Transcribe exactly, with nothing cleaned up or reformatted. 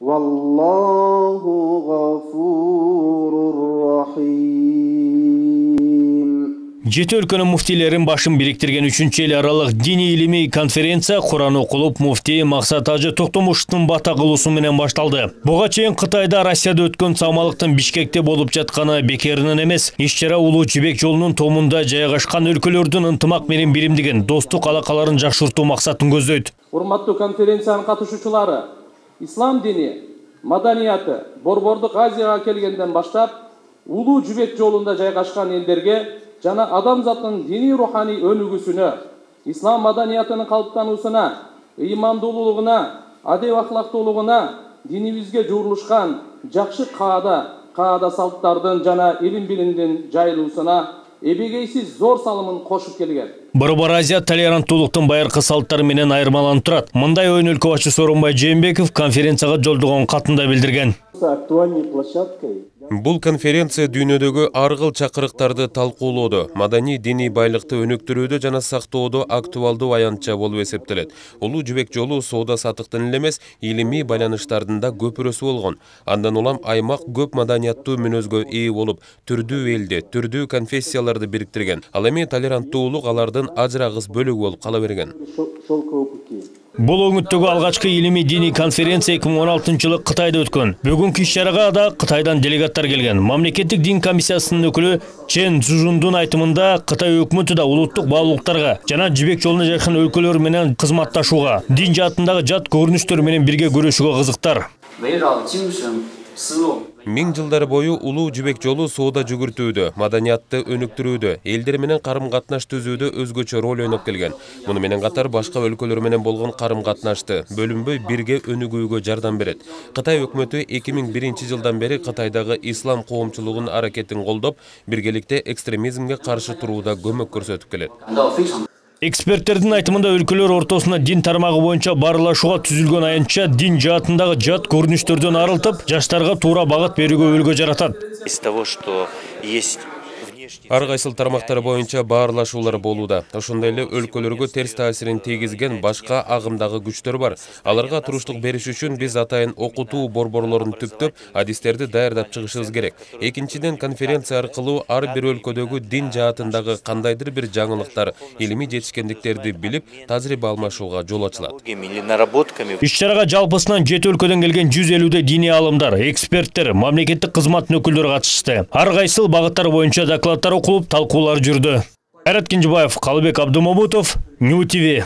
Валлаху гафурур рахим. Жети өлкөнүн муфтийлерин башын бириктирген үчүнчү эл аралык диний илимий конференция Куран окулуп муфтий Максат Ажы Токтомушевдун бата кылуусу менен башталды. Буга чейин Кытайда, Россияда өткөн самалыктын Бишкекте болуп жатканы бекеринен эмес. Иш-чара Улуу Жибек жолунун томунда жайгашкан өлкөлөрдүн ынтымак менен биримдигин, достук алакаларын жакшыртуу максатын көздөйт. Урматтуу конференциянын катышуучулары, ислам дини, маданияты Борбордук Азияга келгенден баштап Улуу Жибек жолунда жайгашкан элдерге жана адамзаттын диний руханий өнүгүүсүнө, ислам маданиятынын калыптануусуна, ыймандуулугуна, адеп ахлактуулугуна, динибизге жуурулушкан жакшы каада, каада салттардын жана илим билимдин жайылуусуна эбегейсиз зор салымын кошуп келген. Борбор Азия толеранттуулуктун байыркы салттары менен айырмаланып турат. Мындай оюн өлкө Сооронбай Жээнбеков конференцияга жолдогон катында билдирген. Бул конференция дүйнөдөгү ар кыл чакырыктарды талкуулоодо, маданий диний байлыкты өнүктүрүүдө жана сактоодо актуалдуу аянтча болуп эсептелет. Улуу Жибек жолу соода саттыктын эле эмес, илимий байланыштардын да көпүрөсү болгон. Андан улам аймак көп маданияттуу мүнөзгө ээ болуп, түрдүү элди, түрдүү конфессияларды бириктирген. Ал эми толеранттуулук алардын ажырагыс бөлүгү болуп кала берген. Бул өңүттөгү алгачкы илимий диний конференция эки миң он алтынчы жылы Кытайда өткөн. Бүгүнкү иш-чарага да Кытайдан делегаттар келген. Мамлекеттик дин комиссиясынын өкүлү Чен Цзужундун айтымында Кытай өкмөтү да улуттук баалуулуктарга жана Жибек жолуна жакын өлкөлөр менен кызматташууга, дин жаатындагы жат көрүнүштөр менен бирге күрөшүүгө кызыктар. Миң жылдар бою Улуу Жибек жолу соода жүгүртүүдө, маданиятты өнүктүрүүдө, элдер менен карым-катнаш түзүүдө өзгөчө роль ойноп келген. Муну менен катар башка өлкөлөр менен болгон карым-катнашты бөлүнбөй бирге өнүгүүгө жардам берет. Кытай өкмөтү эки миң биринчи жылдан бери Кытайдагы ислам коомчулугунун аракетин колдоп, биргеликте экстремизмге каршы турууда көмөк көрсөтүп келет. Эксперттердин айтымында өлкөлөр ортосуна дин тармагы боюнча баарлашууга түзүлгөн аянтча дин жаатындагы жат көрүнүштөрдөн арылтып, жаштарга туура багыт берүүгө үлгү жаратат. Из того, что есть Ар кайсыл тармактар боюнча баарлашуулар болууда. Ошондой эле өлкөлөргө терс таасирин тийгизген башка агымдагы күчтөр бар. Аларга туруштук бериш үчүн биз атайын окутуу борборлорун түптөп, адистерди даярдап чыгышыбыз керек. Экинчиден, конференция аркылуу ар бир өлкөдөгү дин жаатындагы кандайдыр бир жаңылыктар, илимий жетишкендиктерди билип, тажрыйба алмашууга жол ачылат. Иш-чарага жалпысынан жети өлкөдөн келген жүз элүүдөй диний алымдар, эксперттер, мамлекеттик кызматтын өкүлдөрү катышты. Ар кайсыл багыттар боюнча докладдар окулуп, талкуулар жүрдү. Айрат Кенжебаев, Калыбек Абдумамутов, Нью ти ви.